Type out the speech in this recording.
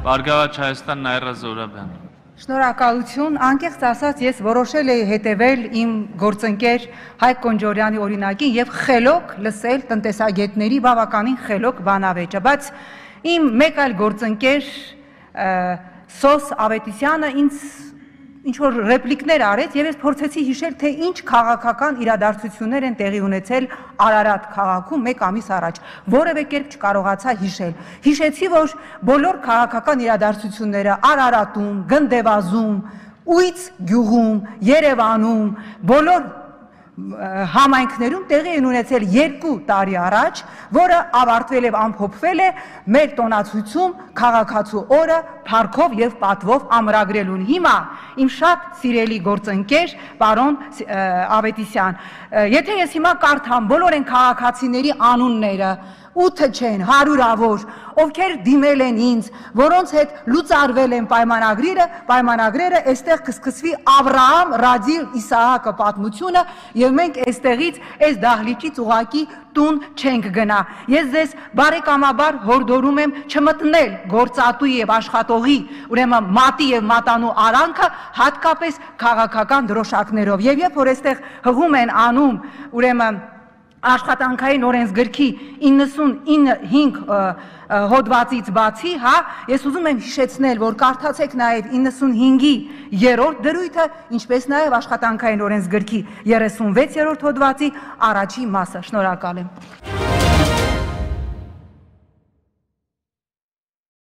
Բարգավաճ Հայաստան Նաիրա Զորաբյան։ Շնորհակալություն, անկեղծ ասած ես որոշել էի հետևել իմ գործընկեր Հայկ Կոնջորյանի օրինակին եւ խելոք լսել տնտեսագետների բավականին խելոք բանավեճը, բայց իմ մեկ այլ գործընկեր Սոս Ավետիսյանը ինձ ինչ-որ ռեպլիկներ արեց եւ ես փորձեցի հիշել, թե ինչ քաղաքական իրադարձություններ են տեղի ունեցել Արարատ քաղաքում մեկ ամիս առաջ, որևէ կերպ չկարողացա հիշել։ Հիշեցի, որ բոլոր քաղաքական իրադարձությունները Արարատում, Գնդեվազում, Ուից գյուղում, Երևանում, բոլոր համայնքներում տեղի են ունեցել 2 տարի առաջ, որը ավարտվել եւ ամփոփվել է մեր տոնացույցում քաղաքացու օրը փառքով եւ պատվով ամրագրելուն։ Հիմա իմ շատ սիրելի գործընկեր պարոն Ավետիսյան, եթե ես հիմա կարդամ բոլոր այն քաղաքացիների անունները, 8 չեն, 100-ավոր, ովքեր դիմել են ինձ, որոնց հետ լուծարվել են պայմանագրերը, այստեղ կսկսվի Ավրահամ, Ռադիլ, Իսահակը պատմությունը եւ մենք այստեղից այս դահլիճից ուղակի տուն չենք գնա։ Ես ձեզ բարեկամաբար հորդորում եմ չմտնել գործատուի եւ աշխատողի, ուրեմն մատի եւ մատանու արանքը, հատկապես քաղաքական դրոշակներով։ Եվ երբ որ այստեղ հղում են անում, ուրեմն աշխատանքային օրենսգրքի 95 հոդվածից բացի, ես ուզում եմ հիշեցնել, որ կարդացեք նաև 95-ի 3-րդ դրույթը, ինչպես նաև աշխատանքային օրենսգրքի 36-րդ հոդվածի առաջին մասը։ Շնորհակալ եմ։